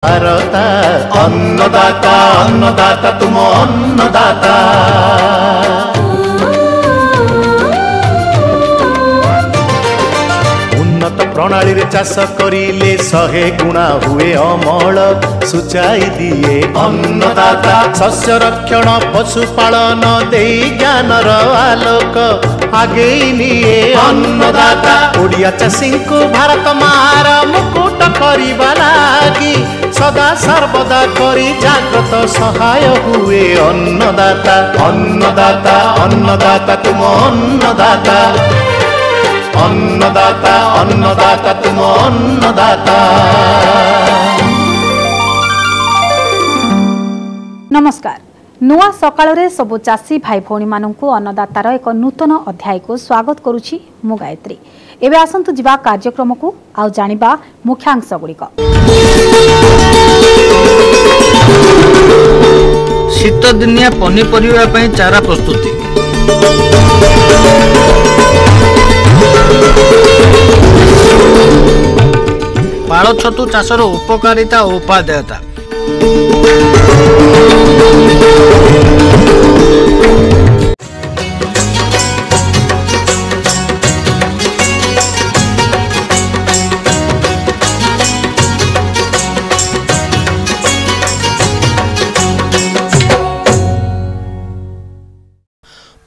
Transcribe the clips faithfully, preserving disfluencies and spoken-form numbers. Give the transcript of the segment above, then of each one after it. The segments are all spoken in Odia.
ଭାରତ ଅନ୍ନଦାତା, ଅନ୍ନଦାତା ତୁମ ଅନ୍ନଦାତା। ଉନ୍ନତ ପ୍ରଣାଳୀରେ ଚାଷ କରିଲେ ଶହେ ଗୁଣା ହୁଏ ଅମଳ, ସୂଚାଇ ଦିଏ ଅନ୍ନଦାତା। ଶସ୍ୟ ରକ୍ଷଣ, ପଶୁପାଳନ ଦେଇ ଜ୍ଞାନର ଆଲୋକ ଆଗେଇ ନିଏ ଅନ୍ନଦାତା। ଓଡ଼ିଆ ଚାଷୀଙ୍କୁ ଭାରତ ମାର ମୁକୁଟ କରିବା ଲାଗି ସଦା ସର୍ବଦା କରି ଜାଗ୍ରତ ସହାୟ ହୁଏ ଅନ୍ନଦାତା। ଅନ୍ନଦାତା, ଅନ୍ନଦାତା ତୁମ ଅନ୍ନଦାତା। ଅନ୍ନଦାତା, ଅନ୍ନଦାତା ତୁମ ଅନ୍ନଦାତା। ନମସ୍କାର, ନୂଆ ସକାଳରେ ସବୁ ଚାଷୀ ଭାଇ ଭଉଣୀମାନଙ୍କୁ ଅନ୍ନଦାତାର ଏକ ନୂତନ ଅଧ୍ୟାୟକୁ ସ୍ୱାଗତ କରୁଛି ମୁଁ ଗାୟତ୍ରୀ। ଏବେ ଆସନ୍ତୁ ଯିବା କାର୍ଯ୍ୟକ୍ରମକୁ ଆଉ ଜାଣିବା ମୁଖ୍ୟାଂଶ ଗୁଡ଼ିକ। ଶୀତଦିନିଆ ପନିପରିବା ପାଇଁ ଚାରା ପ୍ରସ୍ତୁତି, ପାଳ ଛତୁ ଚାଷର ଉପକାରିତା ଓ ଉପାଦେୟତା,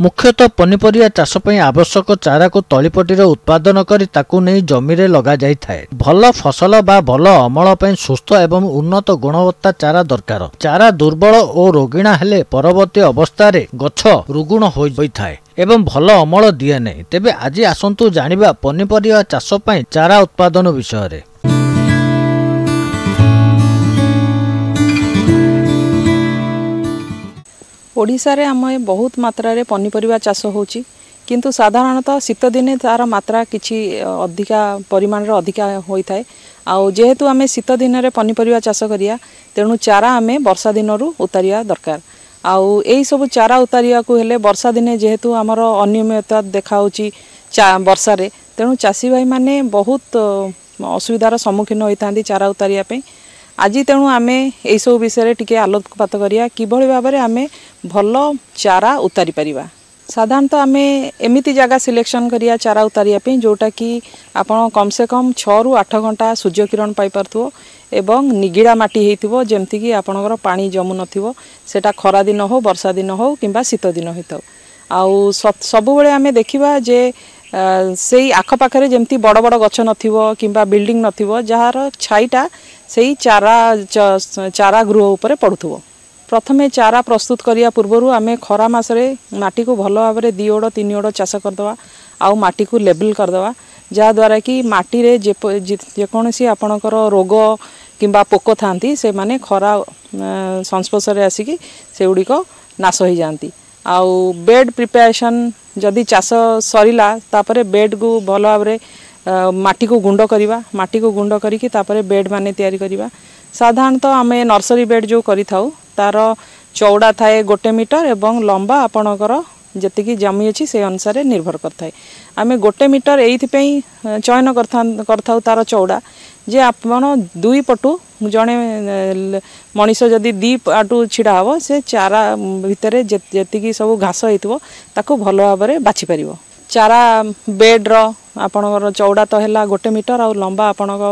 ମୁଖ୍ୟତଃ ପନିପରିବା ଚାଷ ପାଇଁ ଆବଶ୍ୟକ ଚାରାକୁ ତଳିପଟିରେ ଉତ୍ପାଦନ କରି ତାକୁ ନେଇ ଜମିରେ ଲଗାଯାଇଥାଏ। ଭଲ ଫସଲ ବା ଭଲ ଅମଳ ପାଇଁ ସୁସ୍ଥ ଏବଂ ଉନ୍ନତ ଗୁଣବତ୍ତା ଚାରା ଦରକାର। ଚାରା ଦୁର୍ବଳ ଓ ରୋଗିଣା ହେଲେ ପରବର୍ତ୍ତୀ ଅବସ୍ଥାରେ ଗଛ ରୁଗ୍ଣ ହୋଇଥାଏ ଏବଂ ଭଲ ଅମଳ ଦିଏ ନାହିଁ। ତେବେ ଆଜି ଆସନ୍ତୁ ଜାଣିବା ପନିପରିବା ଚାଷ ପାଇଁ ଚାରା ଉତ୍ପାଦନ ବିଷୟରେ। ଓଡ଼ିଶାରେ ଆମେ ବହୁତ ମାତ୍ରାରେ ପନିପରିବା ଚାଷ ହେଉଛି, କିନ୍ତୁ ସାଧାରଣତଃ ଶୀତ ଦିନେ ତା'ର ମାତ୍ରା କିଛି ଅଧିକା ପରିମାଣରେ ଅଧିକା ହୋଇଥାଏ। ଆଉ ଯେହେତୁ ଆମେ ଶୀତ ଦିନରେ ପନିପରିବା ଚାଷ କରିବା, ତେଣୁ ଚାରା ଆମେ ବର୍ଷା ଦିନରୁ ଉତାରିବା ଦରକାର। ଆଉ ଏଇସବୁ ଚାରା ଉତାରିବାକୁ ହେଲେ ବର୍ଷା ଦିନେ ଯେହେତୁ ଆମର ଅନିୟମିତତା ଦେଖାହେଉଛି ବର୍ଷାରେ, ତେଣୁ ଚାଷୀ ଭାଇମାନେ ବହୁତ ଅସୁବିଧାର ସମ୍ମୁଖୀନ ହୋଇଥାନ୍ତି ଚାରା ଉତାରିବା ପାଇଁ। ଆଜି ତେଣୁ ଆମେ ଏଇସବୁ ବିଷୟରେ ଟିକେ ଆଲୋକପାତ କରିବା, କିଭଳି ଭାବରେ ଆମେ ଭଲ ଚାରା ଉତାରି ପାରିବା। ସାଧାରଣତଃ ଆମେ ଏମିତି ଜାଗା ସିଲେକ୍ସନ୍ କରିବା ଚାରା ଉତାରିବା ପାଇଁ, ଯେଉଁଟାକି ଆପଣ କମ୍ ସେ କମ୍ ଛଅରୁ ଆଠ ଘଣ୍ଟା ସୂର୍ଯ୍ୟକିରଣ ପାଇପାରୁଥିବ ଏବଂ ନିଗିଡ଼ା ମାଟି ହେଇଥିବ, ଯେମିତିକି ଆପଣଙ୍କର ପାଣି ଜମୁନଥିବ। ସେଇଟା ଖରା ଦିନ ହେଉ, ବର୍ଷା ଦିନ ହେଉ କିମ୍ବା ଶୀତ ଦିନ ହେଇଥାଉ। ଆଉ ସବୁବେଳେ ଆମେ ଦେଖିବା ଯେ ସେଇ ଆଖପାଖରେ ଯେମିତି ବଡ଼ ବଡ଼ ଗଛ ନଥିବ କିମ୍ବା ବିଲ୍ଡିଂ ନଥିବ, ଯାହାର ଛାଇଟା ସେଇ ଚାରା ଚାରା ଗୃହ ଉପରେ ପଡ଼ୁଥିବ। ପ୍ରଥମେ ଚାରା ପ୍ରସ୍ତୁତ କରିବା ପୂର୍ବରୁ ଆମେ ଖରା ମାସରେ ମାଟିକୁ ଭଲ ଭାବରେ ଦୁଇ ଓଡ଼ ତିନି ଓଡ଼ ଚାଷ କରିଦେବା ଆଉ ମାଟିକୁ ଲେବଲ୍ କରିଦେବା, ଯାହାଦ୍ୱାରା କି ମାଟିରେ ଯେକୌଣସି ଆପଣଙ୍କର ରୋଗ କିମ୍ବା ପୋକ ଥାନ୍ତି, ସେମାନେ ଖରା ସଂସ୍ପର୍ଶରେ ଆସିକି ସେଗୁଡ଼ିକ ନାଶ ହୋଇଯାଆନ୍ତି। ଆଉ ବେଡ଼୍ ପ୍ରିପାରେସନ୍, ଯଦି ଚାଷ ସରିଲା ତାପରେ ବେଡ଼୍କୁ ଭଲ ଭାବରେ ମାଟିକୁ ଗୁଣ୍ଡ କରିବା, ମାଟିକୁ ଗୁଣ୍ଡ କରିକି ତାପରେ ବେଡ଼୍ ମାନେ ତିଆରି କରିବା। ସାଧାରଣତଃ ଆମେ ନର୍ସରୀ ବେଡ଼୍ ଯେଉଁ କରିଥାଉ, ତା'ର ଚଉଡ଼ା ଥାଏ ଗୋଟେ ମିଟର ଏବଂ ଲମ୍ବା ଆପଣଙ୍କର ଯେତିକି ଜମି ଅଛି ସେଇ ଅନୁସାରେ ନିର୍ଭର କରିଥାଏ। ଆମେ ଗୋଟେ ମିଟର ଏଇଥିପାଇଁ ଚୟନ କରିଥାଉ ତା'ର ଚଉଡ଼ା ଯେ ଆପଣ ଦୁଇ ପଟୁ ଜଣେ ମଣିଷ ଯଦି ଦୁଇ ଆଡୁ ଛିଡ଼ା ହେବ, ସେ ଚାରା ଭିତରେ ଯେତିକି ସବୁ ଘାସ ହେଇଥିବ ତାକୁ ଭଲ ଭାବରେ ବାଛିପାରିବ। ଚାରା ବେଡ଼୍ର ଆପଣଙ୍କର ଚଉଡ଼ା ତ ହେଲା ଗୋଟେ ମିଟର ଆଉ ଲମ୍ବା ଆପଣଙ୍କ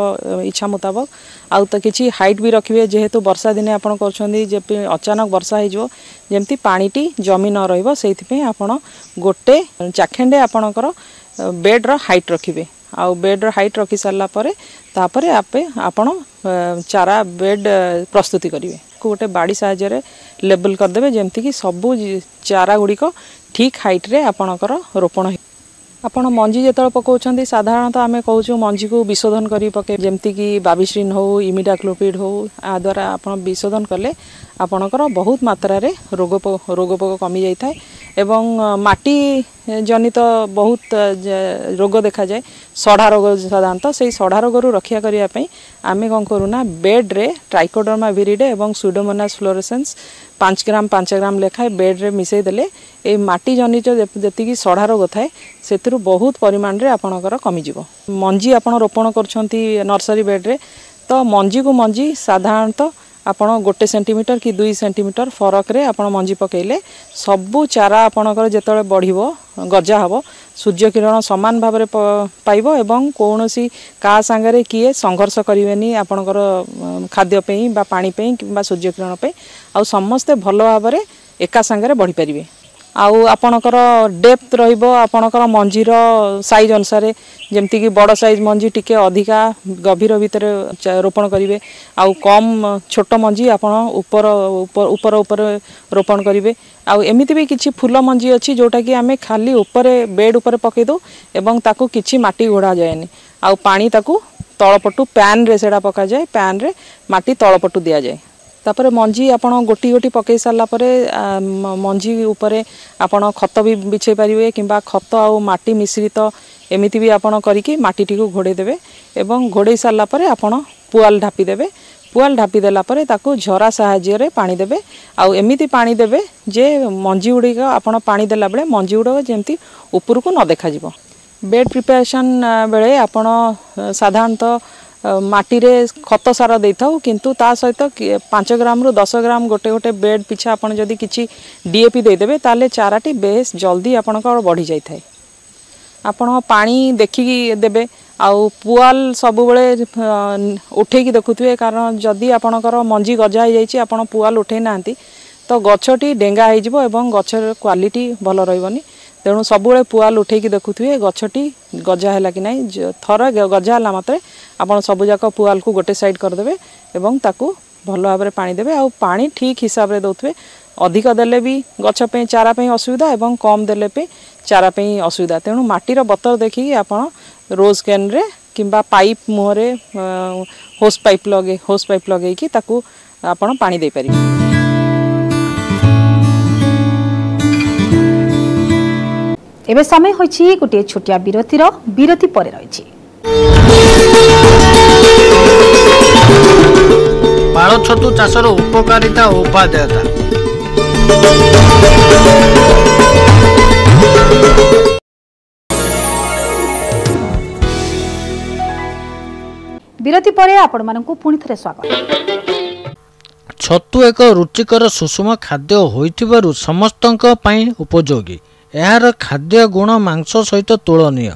ଇଚ୍ଛା ମୁତାବକ, ଆଉ ତ କିଛି ହାଇଟ୍ ବି ରଖିବେ, ଯେହେତୁ ବର୍ଷା ଦିନେ ଆପଣ କରୁଛନ୍ତି, ଯେ ଅଚାନକ ବର୍ଷା ହେଇଯିବ, ଯେମିତି ପାଣିଟି ଜମି ନ ରହିବ ସେଇଥିପାଇଁ ଆପଣ ଗୋଟେ ଚାଖେଣ୍ଡେ ଆପଣଙ୍କର ବେଡ଼୍ର ହାଇଟ୍ ରଖିବେ। ଆଉ ବେଡ଼୍ର ହାଇଟ୍ ରଖି ସାରିଲା ପରେ ତାପରେ ଆପେ ଆପଣ ଚାରା ବେଡ଼୍ ପ୍ରସ୍ତୁତି କରିବେ। ଗୋଟେ ବାଡ଼ି ସାହାଯ୍ୟରେ ଲେବଲ୍ କରିଦେବେ, ଯେମିତିକି ସବୁ ଚାରା ଗୁଡ଼ିକ ଠିକ୍ ହାଇଟ୍ରେ ଆପଣଙ୍କର ରୋପଣ। ଆପଣ ମଞ୍ଜି ଯେତେବେଳେ ପକାଉଛନ୍ତି, ସାଧାରଣତଃ ଆମେ କହୁଛୁ ମଞ୍ଜିକୁ ବିଶୋଧନ କରି ପକାଇ, ଯେମିତିକି ବାବିଶ୍ରିନ୍ ହେଉ, ଇମିଡାକ୍ଲୋପିଡ୍ ହେଉ। ଏହା ଦ୍ୱାରା ଆପଣ ବିଶୋଧନ କଲେ ଆପଣଙ୍କର ବହୁତ ମାତ୍ରାରେ ରୋଗ ରୋଗ ପୋକ କମିଯାଇଥାଏ। ଏବଂ ମାଟି ଜନିତ ବହୁତ ରୋଗ ଦେଖାଯାଏ, ସଢ଼ା ରୋଗ ସାଧାରଣତଃ, ସେଇ ସଢ଼ା ରୋଗରୁ ରକ୍ଷା କରିବା ପାଇଁ ଆମେ କ'ଣ କରୁନା, ବେଡ଼୍ରେ ଟ୍ରାଇକୋଡର୍ମା ଭିରିଡେ ଏବଂ ସୁଡୋମୋନାସ୍ ଫ୍ଲୋରେସେନ୍ସ ପାଞ୍ଚ ଗ୍ରାମ ପାଞ୍ଚ ଗ୍ରାମ ଲେଖାଏଁ ବେଡ଼୍ରେ ମିଶାଇ ଦେଲେ ଏଇ ମାଟି ଜନିତ ଯେତିକି ସଢ଼ା ରୋଗ ଥାଏ ସେଥିରୁ ବହୁତ ପରିମାଣରେ ଆପଣଙ୍କର କମିଯିବ। ମଞ୍ଜି ଆପଣ ରୋପଣ କରୁଛନ୍ତି ନର୍ସରୀ ବେଡ଼୍ରେ, ତ ତ ମଞ୍ଜିକୁ ମଞ୍ଜି ସାଧାରଣତଃ ଆପଣ ଗୋଟେ ସେଣ୍ଟିମିଟର କି ଦୁଇ ସେଣ୍ଟିମିଟର ଫରକରେ ଆପଣ ମଞ୍ଜି ପକାଇଲେ ସବୁ ଚାରା ଆପଣଙ୍କର ଯେତେବେଳେ ବଢ଼ିବ ଗଜା ହେବ ସୂର୍ଯ୍ୟ କିରଣ ସମାନ ଭାବରେ ପାଇବ ଏବଂ କୌଣସି କାହା ସାଙ୍ଗରେ କିଏ ସଂଘର୍ଷ କରିବେନି ଆପଣଙ୍କର ଖାଦ୍ୟ ପାଇଁ ବା ପାଣି ପାଇଁ କିମ୍ବା ସୂର୍ଯ୍ୟ କିରଣ ପାଇଁ ଆଉ ସମସ୍ତେ ଭଲ ଭାବରେ ଏକା ସାଙ୍ଗରେ ବଢ଼ିପାରିବେ ଆଉ ଆପଣଙ୍କର ଡେପ୍ଥ ରହିବ ଆପଣଙ୍କର ମଞ୍ଜିର ସାଇଜ୍ ଅନୁସାରେ ଯେମିତିକି ବଡ଼ ସାଇଜ୍ ମଞ୍ଜି ଟିକେ ଅଧିକା ଗଭୀର ଭିତରେ ରୋପଣ କରିବେ ଆଉ କମ୍ ଛୋଟ ମଞ୍ଜି ଆପଣ ଉପର ଉପର ଉପରେ ରୋପଣ କରିବେ ଆଉ ଏମିତି ବି କିଛି ଫୁଲ ମଞ୍ଜି ଅଛି ଯେଉଁଟାକି ଆମେ ଖାଲି ଉପରେ ବେଡ଼୍ ଉପରେ ପକାଇ ଦେଉ ଏବଂ ତାକୁ କିଛି ମାଟି ଘୋଡ଼ା ଯାଏନି ଆଉ ପାଣି ତାକୁ ତଳପଟୁ ପ୍ୟାନ୍ରେ ସେଇଟା ପକାଯାଏ ପ୍ୟାନ୍ରେ ମାଟି ତଳପଟୁ ଦିଆଯାଏ ତାପରେ ମଞ୍ଜି ଆପଣ ଗୋଟି ଗୋଟି ପକାଇ ସାରିଲା ପରେ ମଞ୍ଜି ଉପରେ ଆପଣ ଖତ ବି ବିଛେଇ ପାରିବେ କିମ୍ବା ଖତ ଆଉ ମାଟି ମିଶ୍ରିତ ଏମିତି ବି ଆପଣ କରିକି ମାଟିଟିକୁ ଘୋଡ଼େଇ ଦେବେ ଏବଂ ଘୋଡ଼େଇ ସାରିଲା ପରେ ଆପଣ ପୁଆଲ ଢାପି ଦେବେ ପୁଆଲ ଢାପି ଦେଲା ପରେ ତାକୁ ଝରା ସାହାଯ୍ୟରେ ପାଣି ଦେବେ ଆଉ ଏମିତି ପାଣି ଦେବେ ଯେ ମଞ୍ଜି ଗୁଡ଼ିକ ଆପଣ ପାଣି ଦେଲା ବେଳେ ମଞ୍ଜି ଗୁଡ଼ିକ ଯେମିତି ଉପରକୁ ନ ଦେଖାଯିବ ବେଡ୍ ପ୍ରିପାରେସନ୍ ବେଳେ ଆପଣ ସାଧାରଣତଃ ମାଟିରେ ଖତ ସାର ଦେଇଥାଉ କିନ୍ତୁ ତା ସହିତ ପାଞ୍ଚ ଗ୍ରାମରୁ ଦଶ ଗ୍ରାମ ଗୋଟେ ଗୋଟେ ବେଡ୍ ପିଛା ଆପଣ ଯଦି କିଛି ଡିଏପି ଦେଇଦେବେ ତାହେଲେ ଚାରାଟି ବେଶ ଜଲ୍ଦି ଆପଣଙ୍କର ବଢ଼ି ଯାଇଥାଏ ଆପଣ ପାଣି ଦେଖିକି ଦେବେ ଆଉ ପୁଆଲ ସବୁବେଳେ ଉଠେଇକି ଦେଖୁଥିବେ କାରଣ ଯଦି ଆପଣଙ୍କର ମଞ୍ଜି ଗଜା ହେଇଯାଇଛି ଆପଣ ପୁଆଲ ଉଠେଇ ନାହାନ୍ତି ତ ଗଛଟି ଡେଙ୍ଗା ହେଇଯିବ ଏବଂ ଗଛର କ୍ୱାଲିଟି ଭଲ ରହିବନି ତେଣୁ ସବୁବେଳେ ପୁଆଲ ଉଠେଇକି ଦେଖୁଥିବେ ଗଛଟି ଗଜା ହେଲା କି ନାହିଁ ଥରେ ଗଜା ହେଲା ମାତ୍ରେ ଆପଣ ସବୁଯାକ ପୁଆଲକୁ ଗୋଟେ ସାଇଡ଼୍ କରିଦେବେ ଏବଂ ତାକୁ ଭଲ ଭାବରେ ପାଣି ଦେବେ ଆଉ ପାଣି ଠିକ୍ ହିସାବରେ ଦେଉଥିବେ ଅଧିକ ଦେଲେ ବି ଗଛ ପାଇଁ ଚାରା ପାଇଁ ଅସୁବିଧା ଏବଂ କମ୍ ଦେଲେ ବି ଚାରା ପାଇଁ ଅସୁବିଧା ତେଣୁ ମାଟିର ବତର ଦେଖିକି ଆପଣ ରୋଜ୍ କ୍ୟାନ୍ରେ କିମ୍ବା ପାଇପ୍ ମୁହଁରେ ହୋସ୍ ପାଇପ୍ ଲଗେଇ ହୋସ୍ ପାଇପ୍ ଲଗେଇକି ତାକୁ ଆପଣ ପାଣି ଦେଇପାରିବେ ଏବେ ସମୟ ହୋଇଛି ଗୋଟିଏ ଛୋଟିଆ ବିରତିର ବିରତି ପରେ ରହିଛି ପାଳ ଛତୁ ଚାଷର ଉପକାରିତା ଓ ଉପାଦେୟତା ବିରତି ପରେ ଆପଣମାନଙ୍କୁ ପୁଣି ଥରେ ସ୍ୱାଗତ ଛତୁ ଏକ ରୁଚିକର ସୁଷମ ଖାଦ୍ୟ ହୋଇଥିବାରୁ ସମସ୍ତଙ୍କ ପାଇଁ ଉପଯୋଗୀ ଏହାର ଖାଦ୍ୟ ଗୁଣ ମାଂସ ସହିତ ତୁଳନୀୟ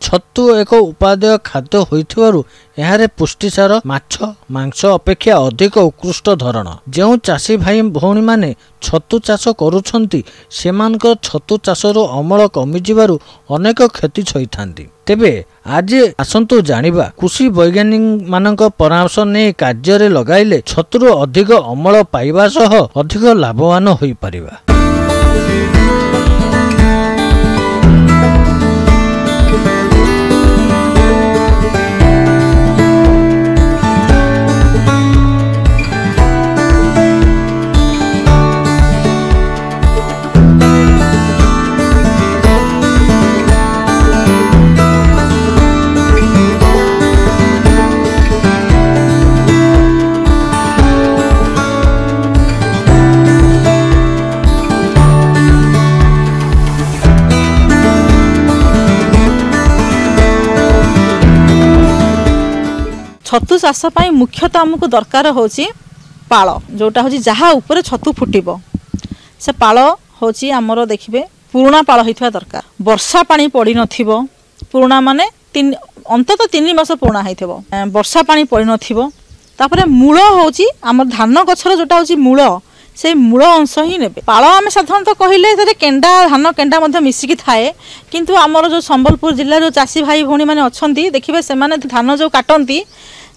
ଛତୁ ଏକ ଉପାଦେୟ ଖାଦ୍ୟ ହୋଇଥିବାରୁ ଏହାରେ ପୁଷ୍ଟିସାର ମାଛ ମାଂସ ଅପେକ୍ଷା ଅଧିକ ଉତ୍କୃଷ୍ଟ ଧରଣ ଯେଉଁ ଚାଷୀ ଭାଇ ଭଉଣୀମାନେ ଛତୁ ଚାଷ କରୁଛନ୍ତି ସେମାନଙ୍କର ଛତୁ ଚାଷରୁ ଅମଳ କମିଯିବାରୁ ଅନେକ କ୍ଷତି ସହିଥାନ୍ତି ତେବେ ଆଜି ଆସନ୍ତୁ ଜାଣିବା କୃଷି ବୈଜ୍ଞାନିକମାନଙ୍କ ପରାମର୍ଶ ନେଇ କାର୍ଯ୍ୟରେ ଲଗାଇଲେ ଛତୁରୁ ଅଧିକ ଅମଳ ପାଇବା ସହ ଅଧିକ ଲାଭବାନ ହୋଇପାରିବା ଛତୁ ଚାଷ ପାଇଁ ମୁଖ୍ୟତଃ ଆମକୁ ଦରକାର ହେଉଛି ପାଳ ଯେଉଁଟା ହେଉଛି ଯାହା ଉପରେ ଛତୁ ଫୁଟିବ ସେ ପାଳ ହେଉଛି ଆମର ଦେଖିବେ ପୁରୁଣା ପାଳ ହେଇଥିବା ଦରକାର ବର୍ଷା ପାଣି ପଡ଼ିନଥିବ ପୁରୁଣା ମାନେ ତିନି ଅନ୍ତତଃ ତିନି ମାସ ପୁରୁଣା ହେଇଥିବ ବର୍ଷା ପାଣି ପଡ଼ିନଥିବ ତାପରେ ମୂଳ ହେଉଛି ଆମର ଧାନ ଗଛର ଯେଉଁଟା ହେଉଛି ମୂଳ ସେଇ ମୂଳ ଅଂଶ ହିଁ ନେବେ ପାଳ ଆମେ ସାଧାରଣତଃ କହିଲେ ସେଥିରେ କେଣ୍ଡା ଧାନ କେଣ୍ଡା ମଧ୍ୟ ମିଶିକି ଥାଏ କିନ୍ତୁ ଆମର ଯେଉଁ ସମ୍ବଲପୁର ଜିଲ୍ଲାର ଯେଉଁ ଚାଷୀ ଭାଇ ଭଉଣୀମାନେ ଅଛନ୍ତି ଦେଖିବେ ସେମାନେ ଧାନ ଯେଉଁ କାଟନ୍ତି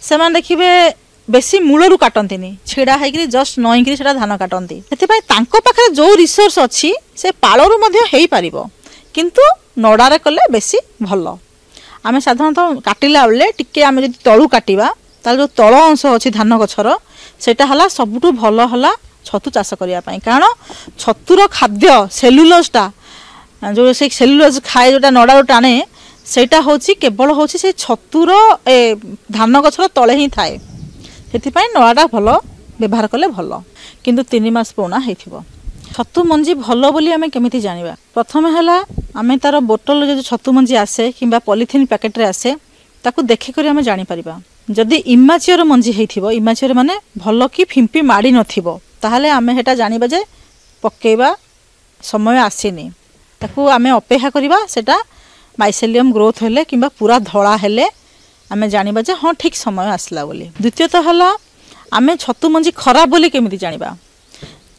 ସେମାନେ ଦେଖିବେ ବେଶୀ ମୂଳରୁ କାଟନ୍ତିନି ଛିଡ଼ା ହେଇକିରି ଜଷ୍ଟ ନଇଁକିରି ସେଇଟା ଧାନ କାଟନ୍ତି ସେଥିପାଇଁ ତାଙ୍କ ପାଖରେ ଯେଉଁ ରିସୋର୍ସ ଅଛି ସେ ପାଳରୁ ମଧ୍ୟ ହେଇପାରିବ କିନ୍ତୁ ନଡ଼ାରେ କଲେ ବେଶୀ ଭଲ ଆମେ ସାଧାରଣତଃ କାଟିଲା ବେଳେ ଟିକେ ଆମେ ଯଦି ତଳୁ କାଟିବା ତାହେଲେ ଯେଉଁ ତଳ ଅଂଶ ଅଛି ଧାନ ଗଛର ସେଇଟା ହେଲା ସବୁଠୁ ଭଲ ହେଲା ଛତୁ ଚାଷ କରିବା ପାଇଁ କାରଣ ଛତୁର ଖାଦ୍ୟ ସେଲୁଲୋଜଟା ଯେଉଁ ସେ ସେଲୁଲୋଜ ଖାଏ ଯେଉଁଟା ନଡ଼ାରୁ ଟାଣେ ସେଇଟା ହେଉଛି କେବଳ ହେଉଛି ସେ ଛତୁର ଏ ଧାନ ଗଛର ତଳେ ହିଁ ଥାଏ ସେଥିପାଇଁ ନଡ଼ାଟା ଭଲ ବ୍ୟବହାର କଲେ ଭଲ କିନ୍ତୁ ତିନି ମାସ ପୁରୁଣା ହେଇଥିବ ଛତୁ ମଞ୍ଜି ଭଲ ବୋଲି ଆମେ କେମିତି ଜାଣିବା ପ୍ରଥମେ ହେଲା ଆମେ ତା'ର ବୋଟଲରେ ଯଦି ଛତୁ ମଞ୍ଜି ଆସେ କିମ୍ବା ପଲିଥିନ୍ ପ୍ୟାକେଟ୍ରେ ଆସେ ତାକୁ ଦେଖିକରି ଆମେ ଜାଣିପାରିବା ଯଦି ଇମାଚିଓର ମଞ୍ଜି ହେଇଥିବ, ଇମାଚିଓର ମାନେ ଭଲ କି ଫିମ୍ପି ମାଡ଼ି ନଥିବ, ତାହେଲେ ଆମେ ସେଟା ଜାଣିବା ଯେ ପକେଇବା ସମୟ ଆସିନି। ତାକୁ ଆମେ ଅପେକ୍ଷା କରିବା, ସେଟା ମାଇସେଲିୟମ୍ ଗ୍ରୋଥ୍ ହେଲେ କିମ୍ବା ପୁରା ଧଳା ହେଲେ ଆମେ ଜାଣିବା ଯେ ହଁ ଠିକ୍ ସମୟ ଆସିଲା ବୋଲି। ଦ୍ୱିତୀୟତଃ ହେଲା ଆମେ ଛତୁ ମଞ୍ଜି ଖରାପ ବୋଲି କେମିତି ଜାଣିବା?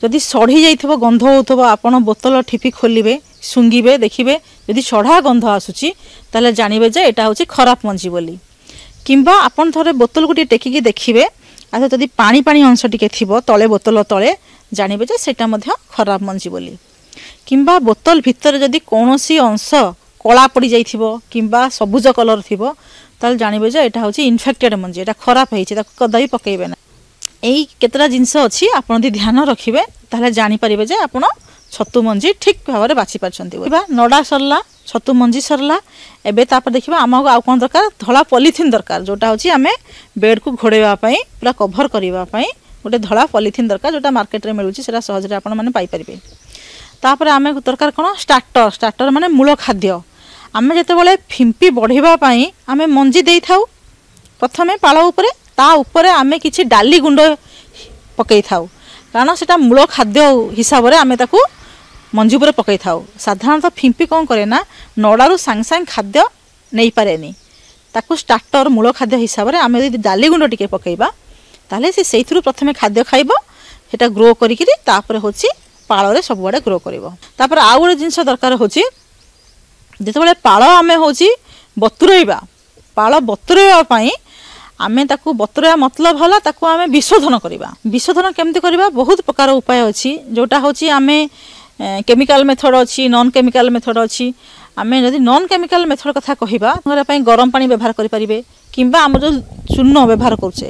ଯଦି ସଢ଼ି ଯାଇଥିବ, ଗନ୍ଧ ହେଉଥିବ, ଆପଣ ବୋତଲ ଠିପି ଖୋଲିବେ, ଶୁଙ୍ଘିବେ, ଦେଖିବେ ଯଦି ସଢ଼ା ଗନ୍ଧ ଆସୁଛି ତାହେଲେ ଜାଣିବେ ଯେ ଏଇଟା ହେଉଛି ଖରାପ ମଞ୍ଜି ବୋଲି। କିମ୍ବା ଆପଣ ଥରେ ବୋତଲକୁ ଟିକେ ଟେକିକି ଦେଖିବେ, ଆଉ ଯଦି ପାଣି ପାଣି ଅଂଶ ଟିକେ ଥିବ ତଳେ, ବୋତଲ ତଳେ, ଜାଣିବେ ଯେ ସେଇଟା ମଧ୍ୟ ଖରାପ ମଞ୍ଜି ବୋଲି। କିମ୍ବା ବୋତଲ ଭିତରେ ଯଦି କୌଣସି ଅଂଶ କଳା ପଡ଼ିଯାଇଥିବ କିମ୍ବା ସବୁଜ କଲର୍ ଥିବ, ତାହେଲେ ଜାଣିବେ ଯେ ଏଇଟା ହେଉଛି ଇନଫେକ୍ଟେଡ଼ ମଞ୍ଜି, ଏଇଟା ଖରାପ ହେଇଛି, ତାକୁ କଦାପି ପକାଇବେ ନା। ଏଇ କେତେଟା ଜିନିଷ ଅଛି, ଆପଣ ଯଦି ଧ୍ୟାନ ରଖିବେ ତାହେଲେ ଜାଣିପାରିବେ ଯେ ଆପଣ ଛତୁ ମଞ୍ଜି ଠିକ୍ ଭାବରେ ବାଛି ପାରିଛନ୍ତି। ବା ନଡ଼ା ସରିଲା, ଛତୁ ମଞ୍ଜି ସରିଲା, ଏବେ ତାପରେ ଦେଖିବା ଆମକୁ ଆଉ କ'ଣ ଦରକାର? ଧଳା ପଲିଥିନ୍ ଦରକାର, ଯେଉଁଟା ହେଉଛି ଆମେ ବେଡ଼୍କୁ ଘୋଡ଼େଇବା ପାଇଁ, ପୁରା କଭର୍ କରିବା ପାଇଁ ଗୋଟେ ଧଳା ପଲିଥିନ୍ ଦରକାର, ଯେଉଁଟା ମାର୍କେଟରେ ମିଳୁଛି, ସେଇଟା ସହଜରେ ଆପଣମାନେ ପାଇପାରିବେ। ତାପରେ ଆମେ ଦରକାର କ'ଣ? ଷ୍ଟାର୍ଟର। ଷ୍ଟାର୍ଟର ମାନେ ମୂଳ ଖାଦ୍ୟ। ଆମେ ଯେତେବେଳେ ଫିମ୍ପି ବଢ଼ିବା ପାଇଁ ଆମେ ମଞ୍ଜି ଦେଇଥାଉ ପ୍ରଥମେ ପାଳ ଉପରେ, ତା ଉପରେ ଆମେ କିଛି ଡାଲି ଗୁଣ୍ଡ ପକାଇଥାଉ, କାରଣ ସେଟା ମୂଳ ଖାଦ୍ୟ ହିସାବରେ ଆମେ ତାକୁ ମଞ୍ଜି ଉପରେ ପକାଇଥାଉ। ସାଧାରଣତଃ ଫିମ୍ପି କ'ଣ କରେ ନା ନଡ଼ାରୁ ସାଙ୍ଗେ ସାଙ୍ଗେ ଖାଦ୍ୟ ନେଇପାରେନି, ତାକୁ ଷ୍ଟାର୍ଟର ମୂଳ ଖାଦ୍ୟ ହିସାବରେ ଆମେ ଯଦି ଡାଲି ଗୁଣ୍ଡ ଟିକେ ପକାଇବା ତାହେଲେ ସେ ସେଇଥିରୁ ପ୍ରଥମେ ଖାଦ୍ୟ ଖାଇବ, ସେଟା ଗ୍ରୋ କରିକିରି ତାପରେ ହେଉଛି ପାଳରେ ସବୁଆଡ଼େ ଗ୍ରୋ କରିବ। ତାପରେ ଆଉ ଗୋଟେ ଜିନିଷ ଦରକାର ହେଉଛି, ଯେତେବେଳେ ପାଳ ଆମେ ହେଉଛି ବତୁରେଇବା, ପାଳ ବତୁରେଇବା ପାଇଁ ଆମେ ତାକୁ ବତୁରେଇବା ମତଲବ ହେଲା ତାକୁ ଆମେ ବିଶୋଧନ କରିବା। ବିଶୋଧନ କେମିତି କରିବା? ବହୁତ ପ୍ରକାର ଉପାୟ ଅଛି, ଯେଉଁଟା ହେଉଛି ଆମେ କେମିକାଲ ମେଥଡ଼ ଅଛି, ନନ୍ କେମିକାଲ ମେଥଡ଼ ଅଛି। ଆମେ ଯଦି ନନ୍ କେମିକାଲ ମେଥଡ଼ କଥା କହିବା, ଘର ପାଇଁ ଗରମ ପାଣି ବ୍ୟବହାର କରିପାରିବେ, କିମ୍ବା ଆମର ଯେଉଁ ଚୂନ ବ୍ୟବହାର କରୁଛେ,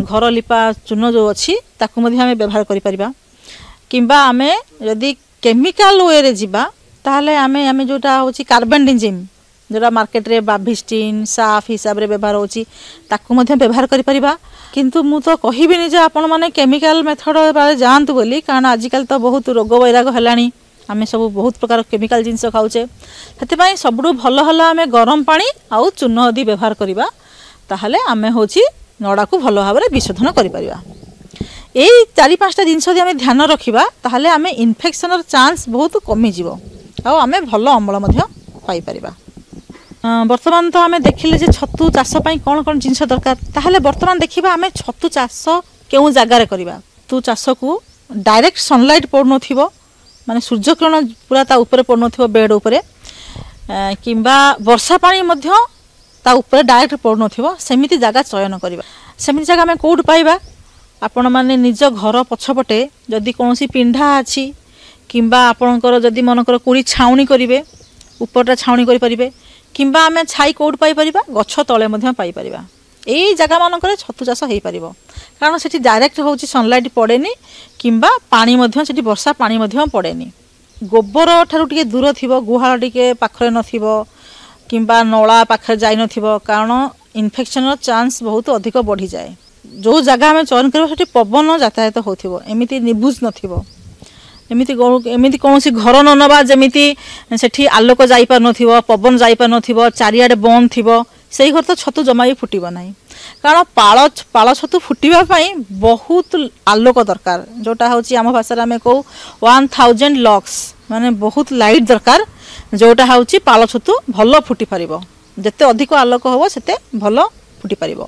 ଘର ଲିପା ଚୂନ ଯେଉଁ ଅଛି ତାକୁ ମଧ୍ୟ ଆମେ ବ୍ୟବହାର କରିପାରିବା। କିମ୍ବା ଆମେ ଯଦି କେମିକାଲ ୱେରେ ଯିବା ତାହେଲେ ଆମେ ଆମେ ଯେଉଁଟା ହେଉଛି କାର୍ବନଡିଜିମ୍, ଯେଉଁଟା ମାର୍କେଟରେ ବାଭିଷ୍ଟିନ୍ ସାଫ୍ ହିସାବରେ ବ୍ୟବହାର ହେଉଛି, ତାକୁ ମଧ୍ୟ ବ୍ୟବହାର କରିପାରିବା। କିନ୍ତୁ ମୁଁ ତ କହିବିନି ଯେ ଆପଣମାନେ କେମିକାଲ ମେଥଡ଼ ଯାଆନ୍ତୁ ବୋଲି, କାରଣ ଆଜିକାଲି ତ ବହୁତ ରୋଗ ବୈରାଗ ହେଲାଣି, ଆମେ ସବୁ ବହୁତ ପ୍ରକାର କେମିକାଲ ଜିନିଷ ଖାଉଛେ। ସେଥିପାଇଁ ସବୁଠୁ ଭଲ ହେଲା ଆମେ ଗରମ ପାଣି ଆଉ ଚୂନ ଯଦି ବ୍ୟବହାର କରିବା, ତାହେଲେ ଆମେ ହେଉଛି ନଡ଼ାକୁ ଭଲ ଭାବରେ ବିଶୋଧନ କରିପାରିବା। ଏଇ ଚାରି ପାଞ୍ଚଟା ଜିନିଷ ଯଦି ଆମେ ଧ୍ୟାନ ରଖିବା ତାହେଲେ ଆମେ ଇନଫେକ୍ସନର ଚାନ୍ସ ବହୁତ କମିଯିବ ଆଉ ଆମେ ଭଲ ଅମଳ ମଧ୍ୟ ପାଇପାରିବା। ବର୍ତ୍ତମାନ ତ ଆମେ ଦେଖିଲେ ଯେ ଛତୁ ଚାଷ ପାଇଁ କ'ଣ କ'ଣ ଜିନିଷ ଦରକାର। ତାହେଲେ ବର୍ତ୍ତମାନ ଦେଖିବା ଆମେ ଛତୁ ଚାଷ କେଉଁ ଜାଗାରେ କରିବା। ଛତୁ ଚାଷକୁ ଡାଇରେକ୍ଟ ସନଲାଇଟ୍ ପଡ଼ୁନଥିବ, ମାନେ ସୂର୍ଯ୍ୟକିରଣ ପୁରା ତା ଉପରେ ପଡ଼ୁନଥିବ ବେଡ଼୍ ଉପରେ, କିମ୍ବା ବର୍ଷା ପାଣି ମଧ୍ୟ ତା ଉପରେ ଡାଇରେକ୍ଟ ପଡ଼ୁନଥିବ, ସେମିତି ଜାଗା ଚୟନ କରିବା। ସେମିତି ଜାଗା ଆମେ କେଉଁଠୁ ପାଇବା? ଆପଣମାନେ ନିଜ ଘର ପଛପଟେ ଯଦି କୌଣସି ପିଣ୍ଢା ଅଛି, କିମ୍ବା ଆପଣଙ୍କର ଯଦି ମନେକର କୁଡ଼ି ଛାଉଣି କରିବେ, ଉପରଟା ଛାଉଣି କରିପାରିବେ, କିମ୍ବା ଆମେ ଛାଇ କେଉଁଠୁ ପାଇପାରିବା? ଗଛ ତଳେ ମଧ୍ୟ ପାଇପାରିବା। ଏଇ ଜାଗାମାନଙ୍କରେ ଛତୁ ଚାଷ ହେଇପାରିବ, କାରଣ ସେଠି ଡାଇରେକ୍ଟ ହେଉଛି ସନଲାଇଟ୍ ପଡ଼େନି, କିମ୍ବା ପାଣି ମଧ୍ୟ ସେଠି ବର୍ଷା ପାଣି ମଧ୍ୟ ପଡ଼େନି। ଗୋବର ଠାରୁ ଟିକେ ଦୂର ଥିବ, ଗୁହାଳ ଟିକେ ପାଖରେ ନଥିବ, କିମ୍ବା ନଳା ପାଖରେ ଯାଇନଥିବ, କାରଣ ଇନଫେକ୍ସନର ଚାନ୍ସ ବହୁତ ଅଧିକ ବଢ଼ିଯାଏ। ଯେଉଁ ଜାଗା ଆମେ ଚୟନ କରିବା ସେଠି ପବନ ଯାତାୟାତ ହେଉଥିବ, ଏମିତି ନିବୁଜ ନଥିବ, ଏମିତି ଏମିତି କୌଣସି ଘର ନ ନେବା ଯେମିତି ସେଠି ଆଲୋକ ଯାଇପାରୁନଥିବ, ପବନ ଯାଇପାରୁନଥିବ, ଚାରିଆଡ଼େ ବନ୍ଦ ଥିବ, ସେଇ ଘରେ ତ ଛତୁ ଜମା ବି ଫୁଟିବ ନାହିଁ। କାରଣ ପାଳ ପାଳ ଛତୁ ଫୁଟିବା ପାଇଁ ବହୁତ ଆଲୋକ ଦରକାର, ଯେଉଁଟା ହେଉଛି ଆମ ଭାଷାରେ ଆମେ କହୁ ୱାନ୍ ଥାଉଜେଣ୍ଡ ଲକ୍ସ, ମାନେ ବହୁତ ଲାଇଟ୍ ଦରକାର, ଯେଉଁଟା ହେଉଛି ପାଳ ଛତୁ ଭଲ ଫୁଟି ପାରିବ। ଯେତେ ଅଧିକ ଆଲୋକ ହେବ ସେତେ ଭଲ ଫୁଟି ପାରିବ।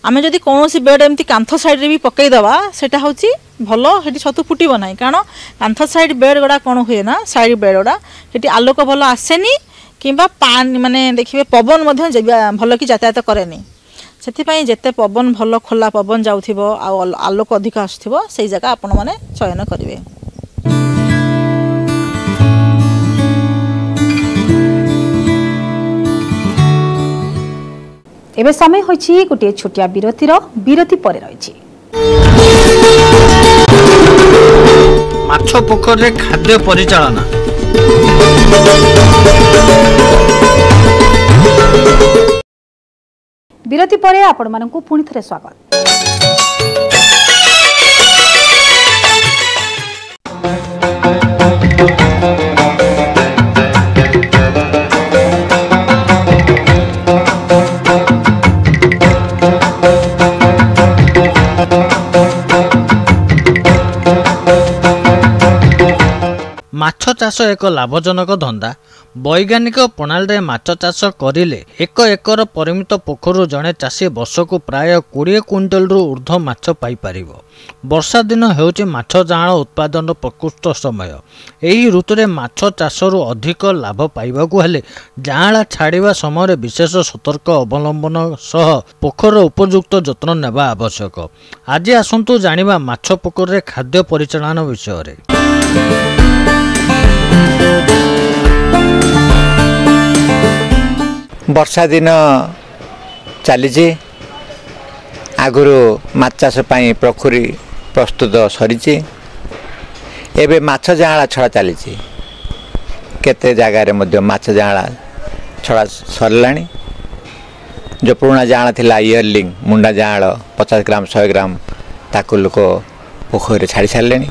ଆମେ ଯଦି କୌଣସି ବେଡ଼୍ ଏମିତି କାନ୍ଥ ସାଇଡ଼୍ରେ ବି ପକାଇଦେବା, ସେଇଟା ହେଉଛି ଭଲ, ସେଠି ଛତୁ ଫୁଟିବ ନାହିଁ। କାରଣ କାନ୍ଥ ସାଇଡ଼୍ ବେଡ଼୍ ଗୁଡ଼ା କ'ଣ ହୁଏ ନା, ସାଇଡ଼୍ ବେଡ଼୍ ଗୁଡ଼ା ସେଠି ଆଲୋକ ଭଲ ଆସେନି, କିମ୍ବା ପାଣି ମାନେ ଦେଖିବେ ପବନ ମଧ୍ୟ ଭଲ କି ଯାତାୟାତ କରେନି। ସେଥିପାଇଁ ଯେତେ ପବନ ଭଲ ଖୋଲା ପବନ ଯାଉଥିବ ଆଉ ଆଲୋକ ଅଧିକ ଆସୁଥିବ, ସେଇ ଜାଗା ଆପଣମାନେ ଚୟନ କରିବେ। ଏବେ ସମୟ ହୋଇଛି ଗୋଟିଏ ଛୋଟିଆ ବିରତିର। ବିରତି ପରେ ରହିଛି ମାଛ ପୋଖରୀରେ ଖାଦ୍ୟ ପରିଚାଳନା। ବିରତି ପରେ ଆପଣମାନଙ୍କୁ ପୁଣି ଥରେ ସ୍ୱାଗତ। ମାଛ ଚାଷ ଏକ ଲାଭଜନକ ଧନ୍ଦା। ବୈଜ୍ଞାନିକ ପ୍ରଣାଳୀରେ ମାଛ ଚାଷ କରିଲେ ଏକ ଏକର ପରିମିତ ପୋଖରୀରୁ ଜଣେ ଚାଷୀ ବର୍ଷକୁ ପ୍ରାୟ କୋଡ଼ିଏ କୁଇଣ୍ଟାଲରୁ ଉର୍ଦ୍ଧ୍ୱ ମାଛ ପାଇପାରିବ। ବର୍ଷା ଦିନ ହେଉଛି ମାଛ ଯାଆଁଳ ଉତ୍ପାଦନର ପ୍ରକୃଷ୍ଟ ସମୟ। ଏହି ଋତୁରେ ମାଛ ଚାଷରୁ ଅଧିକ ଲାଭ ପାଇବାକୁ ହେଲେ ଯାଆଁଳା ଛାଡ଼ିବା ସମୟରେ ବିଶେଷ ସତର୍କ ଅବଲମ୍ବନ ସହ ପୋଖରୀର ଉପଯୁକ୍ତ ଯତ୍ନ ନେବା ଆବଶ୍ୟକ। ଆଜି ଆସନ୍ତୁ ଜାଣିବା ମାଛ ପୋଖରୀରେ ଖାଦ୍ୟ ପରିଚାଳନା ବିଷୟରେ। ବର୍ଷା ଦିନ ଚାଲିଛି। ଆଗରୁ ମାଛ ଚାଷ ପାଇଁ ପୋଖରୀ ପ୍ରସ୍ତୁତ ସରିଛି। ଏବେ ମାଛ ଯାଆଁଳା ଛଡ଼ା ଚାଲିଛି। କେତେ ଜାଗାରେ ମଧ୍ୟ ମାଛ ଯାଆଁଳା ଛଡ଼ା ସରିଲାଣି। ଯେଉଁ ପୁରୁଣା ଯାଆଁଳା ଥିଲା, ଇୟରଲିଂ ମୁଣ୍ଡା ଯାଆଁଳ, ପଚାଶ ଗ୍ରାମ, ଶହେ ଗ୍ରାମ, ତାକୁ ଲୋକ ପୋଖରୀରେ ଛାଡ଼ି ସାରିଲେଣି।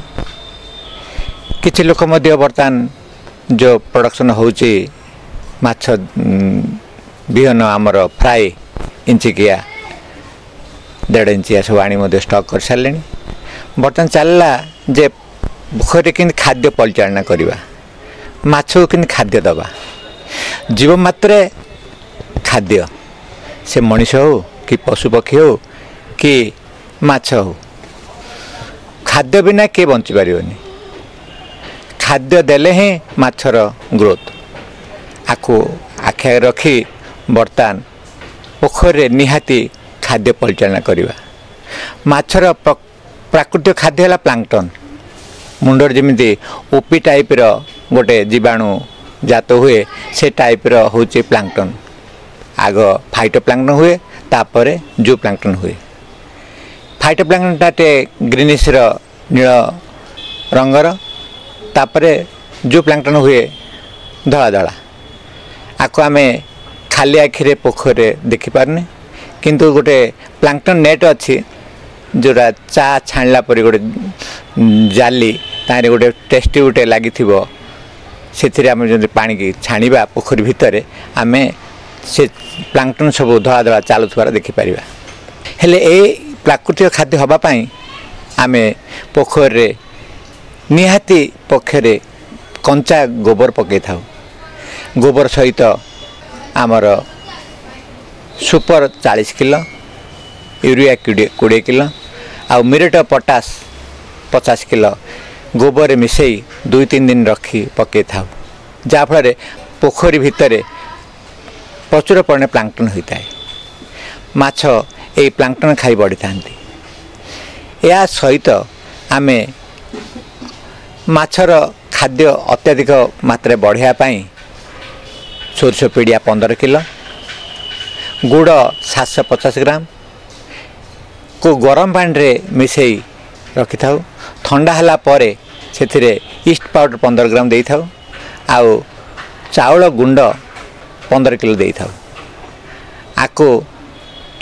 କିଛି ଲୋକ ମଧ୍ୟ ବର୍ତ୍ତମାନ ଯେଉଁ ପ୍ରଡ଼କ୍ସନ୍ ହେଉଛି ମାଛ ବିହନ, ଆମର ଫ୍ରାଏ ଇଞ୍ଚିକିଆ, ଦେଢ଼ ଇଞ୍ଚିଆ ସବୁ ଆଣି ମଧ୍ୟ ଷ୍ଟକ୍ କରିସାରିଲେଣି। ବର୍ତ୍ତମାନ ଚାଲିଲା ଯେ ପୋଖରୀରେ କେମିତି ଖାଦ୍ୟ ପରିଚାଳନା କରିବା, ମାଛକୁ କେମିତି ଖାଦ୍ୟ ଦେବା। ଜୀବ ମାତ୍ରେ ଖାଦ୍ୟ, ସେ ମଣିଷ ହେଉ କି ପଶୁପକ୍ଷୀ ହେଉ କି ମାଛ ହେଉ, ଖାଦ୍ୟ ବିନା କିଏ ବଞ୍ଚିପାରିବନି। ଖାଦ୍ୟ ଦେଲେ ହିଁ ମାଛର ଗ୍ରୋଥ୍। ଆକୁ ଆଖି ଆଗରେ ରଖି ବର୍ତ୍ତମାନ ପୋଖରୀରେ ନିହାତି ଖାଦ୍ୟ ପରିଚାଳନା କରିବା। ମାଛର ପ୍ରାକୃତିକ ଖାଦ୍ୟ ହେଲା ପ୍ଲାଙ୍କଟନ୍। ମୁଣ୍ଡରେ ଯେମିତି ଓପି ଟାଇପ୍ର ଗୋଟେ ଜୀବାଣୁ ଜାତ ହୁଏ, ସେ ଟାଇପ୍ର ହେଉଛି ପ୍ଲାଙ୍କଟନ୍। ଆଗ ଫାଇଟୋ ପ୍ଲାଙ୍କଟନ୍ ହୁଏ, ତାପରେ ଜୁ ପ୍ଲାଙ୍କଟନ୍ ହୁଏ। ଫାଇଟୋ ପ୍ଲାଙ୍କଟନ୍ଟା ଟିକେ ଗ୍ରୀନିସ୍ର ନୀଳ ରଙ୍ଗର, ତାପରେ ଜୁ ପ୍ଲାଙ୍କଟନ୍ ହୁଏ ଧଳା ଧଳା। ଆକୁ ଆମେ ଖାଲି ଆଖିରେ ପୋଖରୀରେ ଦେଖିପାରୁନେ, କିନ୍ତୁ ଗୋଟେ ପ୍ଲାଙ୍କଟନ୍ ନେଟ୍ ଅଛି, ଯେଉଁଟା ଚା ଛାଣିଲା ପରି ଗୋଟେ ଜାଲି, ତାହିଁରେ ଗୋଟେ ଟେଷ୍ଟି ଗୋଟେ ଲାଗିଥିବ। ସେଥିରେ ଆମେ ଯଦି ପାଣିକି ଛାଣିବା ପୋଖରୀ ଭିତରେ, ଆମେ ସେ ପ୍ଲାଙ୍କଟନ୍ ସବୁ ଧଳା ଧଳା ଚାଲୁଥିବାର ଦେଖିପାରିବା। ହେଲେ ଏ ପ୍ରାକୃତିକ ଖାଦ୍ୟ ହେବା ପାଇଁ ଆମେ ପୋଖରୀରେ ନିହାତି ପକ୍ଷରେ କଞ୍ଚା ଗୋବର ପକାଇଥାଉ। ଗୋବର ସହିତ ଆମର ସୁପର ଚାଳିଶ କିଲୋ, ୟୁରିଆ କୋଡ଼ିଏ କିଲୋ ଆଉ ମ୍ୟୁରେଟ୍ ପଟାସ ପଚାଶ କିଲୋ ଗୋବରରେ ମିଶାଇ ଦୁଇ ତିନି ଦିନ ରଖି ପକାଇଥାଉ, ଯାହାଫଳରେ ପୋଖରୀ ଭିତରେ ପ୍ରଚୁର ପରିମାଣରେ ପ୍ଲାଙ୍କଟନ୍ ହୋଇଥାଏ। ମାଛ ଏଇ ପ୍ଲାଙ୍କଟନ୍ ଖାଇ ବଢ଼ିଥାନ୍ତି। ଏହା ସହିତ ଆମେ ମାଛର ଖାଦ୍ୟ ଅତ୍ୟଧିକ ମାତ୍ରାରେ ବଢ଼ାଇବା ପାଇଁ ସୋରିଷ ପିଡ଼ିଆ ପନ୍ଦର କିଲୋ, ଗୁଡ଼ ସାତଶହ ପଚାଶ ଗ୍ରାମ କୁ ଗରମ ପାଣିରେ ମିଶାଇ ରଖିଥାଉ। ଥଣ୍ଡା ହେଲା ପରେ ସେଥିରେ ଇଷ୍ଟ ପାଉଡ଼ର ପନ୍ଦର ଗ୍ରାମ ଦେଇଥାଉ ଆଉ ଚାଉଳ ଗୁଣ୍ଡ ପନ୍ଦର କିଲୋ ଦେଇଥାଉ। ଆକୁ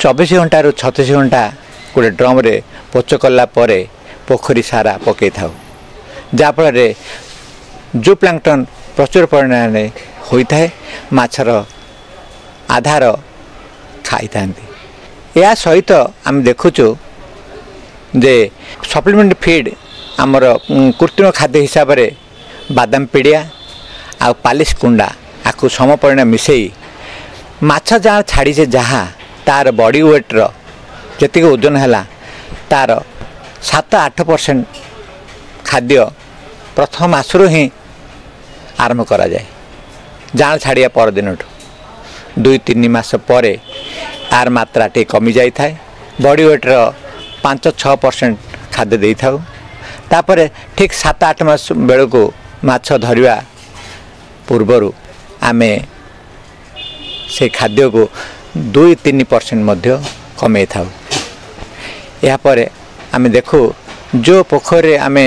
ଚବିଶ ଘଣ୍ଟାରୁ ଛତିଶ ଘଣ୍ଟା ଗୋଟେ ଡ୍ରମ୍ରେ ପୋଚ କଲା ପରେ ପୋଖରୀ ସାରା ପକାଇଥାଉ, ଯାହାଫଳରେ ଜୁ ପ୍ଲାଙ୍କଟନ୍ ପ୍ରଚୁର ପରିମାଣରେ ହୋଇଥାଏ, ମାଛର ଆଧାର ଖାଇଥାନ୍ତି। ଏହା ସହିତ ଆମେ ଦେଖୁଛୁ ଯେ ସପ୍ଲିମେଣ୍ଟ ଫିଡ଼୍, ଆମର କୃତ୍ରିମ ଖାଦ୍ୟ ହିସାବରେ ବାଦାମ ପିଡ଼ିଆ ଆଉ ପାଲିସ କୁଣ୍ଡା, ଆକୁ ସମ ପରିମାଣ ମିଶାଇ ମାଛ ଯାହା ଛାଡ଼ିଛେ, ଯାହା ତା'ର ବଡ଼ି ୱେଟ୍ର ଯେତିକି ଓଜନ ହେଲା, ତା'ର ସାତ ଆଠ ପରସେଣ୍ଟ ଖାଦ୍ୟ ପ୍ରଥମ ମାସରୁ ହିଁ ଆରମ୍ଭ କରାଯାଏ। ଜାଆଁଳ ଛାଡ଼ିବା ପରଦିନଠୁ ଦୁଇ ତିନି ମାସ ପରେ ଆର ମାତ୍ରା ଟିକେ କମିଯାଇଥାଏ। ବଡ଼ି ୱେଟ୍ର ପାଞ୍ଚ ଛଅ ପରସେଣ୍ଟ ଖାଦ୍ୟ ଦେଇଥାଉ। ତାପରେ ଠିକ୍ ସାତ ଆଠ ମାସ ବେଳକୁ ମାଛ ଧରିବା ପୂର୍ବରୁ ଆମେ ସେ ଖାଦ୍ୟକୁ ଦୁଇ ତିନି ପରସେଣ୍ଟ ମଧ୍ୟ କମେଇଥାଉ। ଏହାପରେ ଆମେ ଦେଖୁ, ଯେଉଁ ପୋଖରୀରେ ଆମେ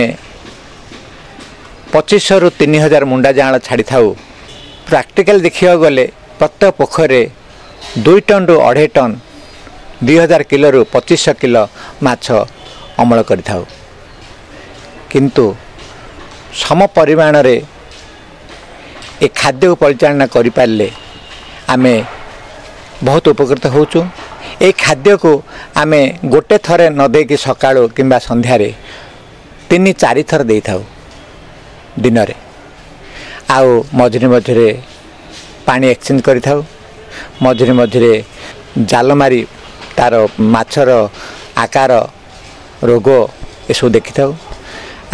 ପଚିଶଶହରୁ ତିନି ହଜାର ମୁଣ୍ଡା ଯାଆଁଳ ଛାଡ଼ିଥାଉ, ପ୍ରାକ୍ଟିକାଲ ଦେଖିବାକୁ ଗଲେ ପ୍ରତ୍ୟେକ ପୋଖରୀରେ ଦୁଇ ଟନ୍ରୁ ଅଢ଼େଇ ଟନ୍, ଦୁଇ ହଜାର କିଲୋରୁ ପଚିଶଶହ କିଲୋ ମାଛ ଅମଳ କରିଥାଉ। କିନ୍ତୁ ସମ ପରିମାଣରେ ଏ ଖାଦ୍ୟକୁ ପରିଚାଳନା କରିପାରିଲେ ଆମେ ବହୁତ ଉପକୃତ ହେଉଛୁ। ଏଇ ଖାଦ୍ୟକୁ ଆମେ ଗୋଟେ ଥରେ ନ ଦେଇକି ସକାଳୁ କିମ୍ବା ସନ୍ଧ୍ୟାରେ ତିନି ଚାରି ଥର ଦେଇଥାଉ ଦିନରେ। ଆଉ ମଝିରେ ମଝିରେ ପାଣି ଏକ୍ସଚେଞ୍ଜ କରିଥାଉ। ମଝିରେ ମଝିରେ ଜାଲ ମାରି ତା'ର ମାଛର ଆକାର, ରୋଗ ଏସବୁ ଦେଖିଥାଉ।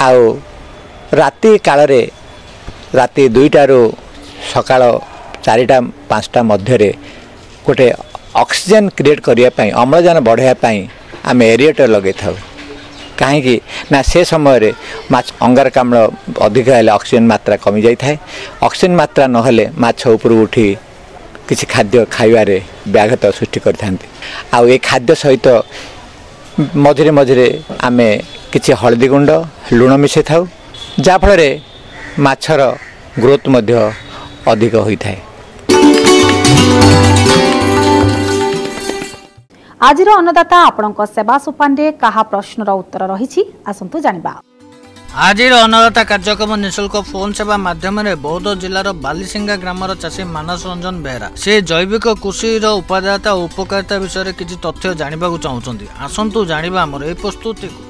ଆଉ ରାତି କାଳରେ ରାତି ଦୁଇଟାରୁ ସକାଳ ଚାରିଟା ପାଞ୍ଚଟା ମଧ୍ୟରେ ଗୋଟେ ଅକ୍ସିଜେନ୍ କ୍ରିଏଟ୍ କରିବା ପାଇଁ, ଅମ୍ଳଜାନ ବଢ଼ାଇବା ପାଇଁ ଆମେ ଏରିଏଟର୍ ଲଗାଇଥାଉ। କାହିଁକି ନା ସେ ସମୟରେ ମାଛ ଅଙ୍ଗାରକାମ୍ଳ ଅଧିକ ହେଲେ ଅକ୍ସିଜେନ୍ ମାତ୍ରା କମିଯାଇଥାଏ। ଅକ୍ସିଜେନ୍ ମାତ୍ରା ନହେଲେ ମାଛ ଉପରକୁ ଉଠି କିଛି ଖାଦ୍ୟ ଖାଇବାରେ ବ୍ୟାଘାତ ସୃଷ୍ଟି କରିଥାନ୍ତି। ଆଉ ଏ ଖାଦ୍ୟ ସହିତ ମଝିରେ ମଝିରେ ଆମେ କିଛି ହଳଦୀ ଗୁଣ୍ଡ, ଲୁଣ ମିଶାଇଥାଉ, ଯାହାଫଳରେ ମାଛର ଗ୍ରୋଥ୍ ମଧ୍ୟ ଅଧିକ ହୋଇଥାଏ। ଆଜିର ଅନ୍ନଦାତା ଆପଣଙ୍କ ସେବା ସୋପାନରେ କାହା ପ୍ରଶ୍ନର ଉତ୍ତର ରହିଛି, ଆସନ୍ତୁ ଜାଣିବା। ଆଜିର ଅନ୍ନଦାତା କାର୍ଯ୍ୟକ୍ରମ ନିଃଶୁଳ୍କ ଫୋନ୍ ସେବା ମାଧ୍ୟମରେ ବୌଦ୍ଧ ଜିଲ୍ଲାର ବାଲିସିଙ୍ଗା ଗ୍ରାମର ଚାଷୀ ମାନସ ରଞ୍ଜନ ବେହେରା ସେ ଜୈବିକ କୃଷିର ଉପାଦେୟତା ଓ ଉପକାରିତା ବିଷୟରେ କିଛି ତଥ୍ୟ ଜାଣିବାକୁ ଚାହୁଁଛନ୍ତି। ଆସନ୍ତୁ ଜାଣିବା ଆମର ଏହି ପ୍ରସ୍ତୁତିକୁ।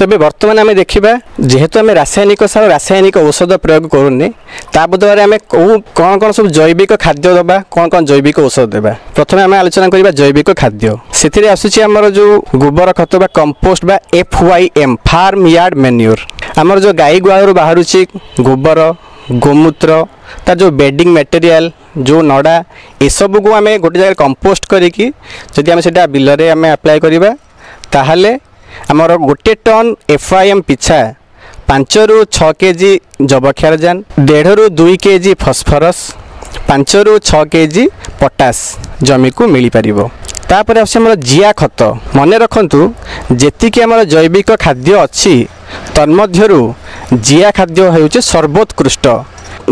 ତେବେ ବର୍ତ୍ତମାନ ଆମେ ଦେଖିବା, ଯେହେତୁ ଆମେ ରାସାୟନିକ ସାର, ରାସାୟନିକ ଔଷଧ ପ୍ରୟୋଗ କରୁନେ, ତା ବଦଳରେ ଆମେ କେଉଁ କ'ଣ କ'ଣ ସବୁ ଜୈବିକ ଖାଦ୍ୟ ଦେବା, କ'ଣ କ'ଣ ଜୈବିକ ଔଷଧ ଦେବା। ପ୍ରଥମେ ଆମେ ଆଲୋଚନା କରିବା ଜୈବିକ ଖାଦ୍ୟ। ସେଥିରେ ଆସୁଛି ଆମର ଯେଉଁ ଗୋବର ଖତ ବା କମ୍ପୋଷ୍ଟ ବା F Y M, farm yard manure. ଆମର ଯେଉଁ ଗାଈ ଗୁହାଳରୁ ବାହାରୁଛି ଗୋବର, ଗୋମୂତ୍ର, ତାର ଯେଉଁ ବେଡ଼ିଂ ମ୍ୟାଟେରିଆଲ, ଯେଉଁ ନଡ଼ା, ଏସବୁକୁ ଆମେ ଗୋଟେ ଜାଗାରେ କମ୍ପୋଷ୍ଟ କରିକି ଯଦି ଆମେ ସେଇଟା ବିଲରେ ଆମେ ଆପ୍ଲାଏ କରିବା, ତାହେଲେ ଆମର ଗୋଟେ ଟନ୍ ଏଫ୍ ୱାଇ ଏମ୍ ପିଛା ପାଞ୍ଚରୁ ଛଅ କେଜି ଯବକ୍ଷାରଜାନ, ଦେଢ଼ରୁ ଦୁଇ କେଜି ଫସ୍ଫରସ୍, ପାଞ୍ଚରୁ ଛଅ କେଜି ପଟାସ ଜମିକୁ ମିଳିପାରିବ। ତାପରେ ଆସୁଛି ଆମର ଜିଆ ଖତ। ମନେ ରଖନ୍ତୁ, ଯେତିକି ଆମର ଜୈବିକ ଖାଦ୍ୟ ଅଛି ତନ୍ମଧ୍ୟରୁ ଜିଆ ଖାଦ୍ୟ ହେଉଛି ସର୍ବୋତ୍କୃଷ୍ଟ।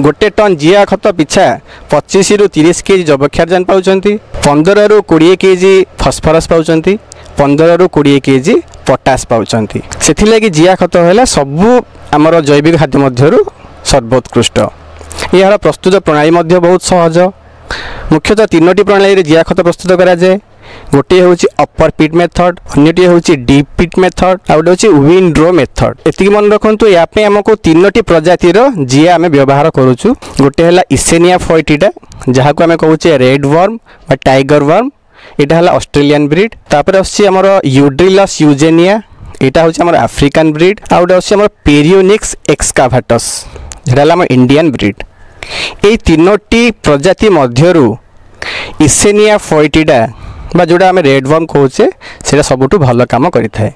ଗୋଟେ ଟନ୍ ଜିଆ ଖତ ପିଛା ପଚିଶରୁ ତିରିଶ କେଜି ଯବକ୍ଷାରଜାନ ପାଉଛନ୍ତି, ପନ୍ଦରରୁ କୋଡ଼ିଏ କେଜି ଫସ୍ଫରସ୍ ପାଉଛନ୍ତି, ପନ୍ଦରରୁ କୋଡ଼ିଏ କେଜି ପଟାସ ପାଉଛନ୍ତି। ସେଥିଲାଗି ଜିଆ ଖତ ହେଲା ସବୁ ଆମର ଜୈବିକ ଖାଦ୍ୟ ମଧ୍ୟରୁ ସର୍ବୋତ୍କୃଷ୍ଟ। ଏହାର ପ୍ରସ୍ତୁତ ପ୍ରଣାଳୀ ମଧ୍ୟ ବହୁତ ସହଜ। ମୁଖ୍ୟତଃ ତିନୋଟି ପ୍ରଣାଳୀରେ ଜିଆ ଖତ ପ୍ରସ୍ତୁତ କରାଯାଏ। ଗୋଟିଏ ହେଉଛି ଅପର ପିଟ୍ ମେଥଡ଼, ଅନ୍ୟଟି ହେଉଛି ଡିପ୍ ପିଟ୍ ମେଥଡ଼, ଆଉ ଗୋଟେ ହେଉଛି ୱିଣ୍ଡ ରୋ ମେଥଡ଼। ଏତିକି ମନେ ରଖନ୍ତୁ, ୟା ପାଇଁ ଆମକୁ ତିନୋଟି ପ୍ରଜାତିର ଜିଆ ଆମେ ବ୍ୟବହାର କରୁଛୁ। ଗୋଟେ ହେଲା ଇସେନିଆ ଫଏଟିଡା, ଯାହାକୁ ଆମେ କହୁଛେ ରେଡ୍ ୱାର୍ମ ବା ଟାଇଗର ୱାର୍ମ, ଏଇଟା ହେଲା ଅଷ୍ଟ୍ରେଲିଆନ୍ ବ୍ରିଡ୍। ତାପରେ ଆସୁଛି ଆମର ୟୁଡ୍ରିଲସ୍ ୟୁଜେନିଆ, ଏଇଟା ହେଉଛି ଆମର ଆଫ୍ରିକାନ୍ ବ୍ରିଡ୍। ଆଉ ଗୋଟେ ଆସୁଛି ଆମର ପେରିଓନିକ୍ସ ଏକ୍ସକାଭାଟସ୍, ଯେଟା ହେଲା ଆମ ଇଣ୍ଡିଆନ୍ ବ୍ରିଡ୍। ଏଇ ତିନୋଟି ପ୍ରଜାତି ମଧ୍ୟରୁ ଇସେନିଆ ଫଏଟିଡା ବା ଯେଉଁଟା ଆମେ ରେଡ୍ ୱାର୍ମ କହୁଛେ, ସେଇଟା ସବୁଠୁ ଭଲ କାମ କରିଥାଏ।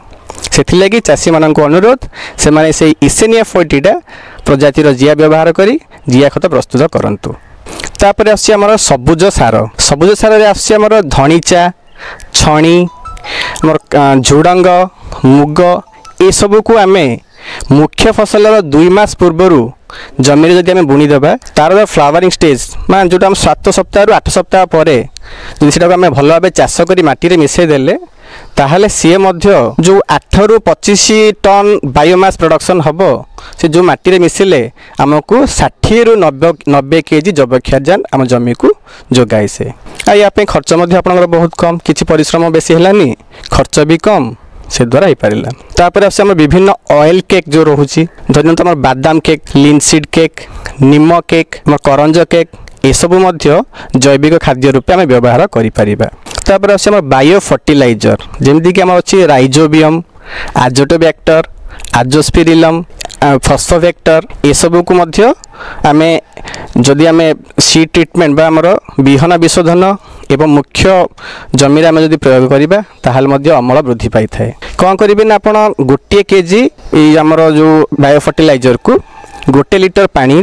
ସେଥିଲାଗି ଚାଷୀମାନଙ୍କୁ ଅନୁରୋଧ, ସେମାନେ ସେଇ ଇସେନିଆ ଫଏଟିଡା ପ୍ରଜାତିର ଜିଆ ବ୍ୟବହାର କରି ଜିଆ ଖତ ପ୍ରସ୍ତୁତ କରନ୍ତୁ। ତାପରେ ଆସୁଛି ଆମର ସବୁଜ ସାର। ସବୁଜ ସାରରେ ଆସୁଛି ଆମର ଧଣିଚା, ଛଣି, ଆମର ଝୁଡ଼ଙ୍ଗ, ମୁଗ, ଏସବୁକୁ ଆମେ ମୁଖ୍ୟ ଫସଲର ଦୁଇ ମାସ ପୂର୍ବରୁ ଜମିରେ ଯଦି ଆମେ ବୁଣିଦେବା, ତାର ଫ୍ଲାୱାରିଂ ଷ୍ଟେଜ୍ ମାନେ ଯେଉଁଟା ଆମ ସାତ ସପ୍ତାହରୁ ଆଠ ସପ୍ତାହ ପରେ ଯଦି ସେଟାକୁ ଆମେ ଭଲ ଭାବେ ଚାଷ କରି ମାଟିରେ ମିଶାଇ ଦେଲେ, ତାହେଲେ ସିଏ ମଧ୍ୟ ଯେଉଁ ଆଠରୁ ପଚିଶ ଟନ୍ ବାୟୋମାସ୍ ପ୍ରଡକ୍ସନ୍ ହେବ, ସେ ଯେଉଁ ମାଟିରେ ମିଶିଲେ ଆମକୁ ଷାଠିଏରୁ ନବେ ନବେ କେଜି ଯବକ୍ଷାରଜାନ ଆମ ଜମିକୁ ଯୋଗାଏ ସେ। ଆଉ ୟା ପାଇଁ ଖର୍ଚ୍ଚ ମଧ୍ୟ ଆପଣଙ୍କର ବହୁତ କମ୍, କିଛି ପରିଶ୍ରମ ବେଶୀ ହେଲାନି, ଖର୍ଚ୍ଚ ବି କମ୍, ସେ ଦ୍ୱାରା ହେଇପାରିଲା। ତାପରେ ଆସୁଛି ଆମର ବିଭିନ୍ନ ଅଏଲ୍ କେକ୍ ଯେଉଁ ରହୁଛି, ଧରିନିଅନ୍ତୁ ଆମର ବାଦାମ କେକ୍, ଲିନସିଡ୍ କେକ୍, ନିମ କେକ୍, ଆମର କରଞ୍ଜ କେକ୍, ଏସବୁ ମଧ୍ୟ ଜୈବିକ ଖାଦ୍ୟ ରୂପେ ଆମେ ବ୍ୟବହାର କରିପାରିବା। ତାପରେ ଆସୁଛି ଆମର ବାୟୋ ଫର୍ଟିଲାଇଜର, ଯେମିତିକି ଆମର ଅଛି ରାଇଜୋବିୟମ୍, ଆଜୋଟୋବ୍ୟାକ୍ଟର, ଆଜୋସ୍ପିରିଲମ୍, ଫସ୍ଫୋଭେକ୍ଟର, ଏସବୁକୁ ମଧ୍ୟ ଆମେ ଯଦି ଆମେ ସିଡ୍ ଟ୍ରିଟମେଣ୍ଟ ବା ଆମର ବିହନ ବିଶୋଧନ ଏବଂ ମୁଖ୍ୟ ଜମିରେ ଆମେ ଯଦି ପ୍ରୟୋଗ କରିବା, ତାହେଲେ ମଧ୍ୟ ଅମଳ ବୃଦ୍ଧି ପାଇଥାଏ। କ'ଣ କରିବେ ନା, ଆପଣ ଗୋଟିଏ କେଜି ଏଇ ଆମର ଯେଉଁ ବାୟୋ ଫର୍ଟିଲାଇଜରକୁ ଗୋଟେ ଲିଟର ପାଣି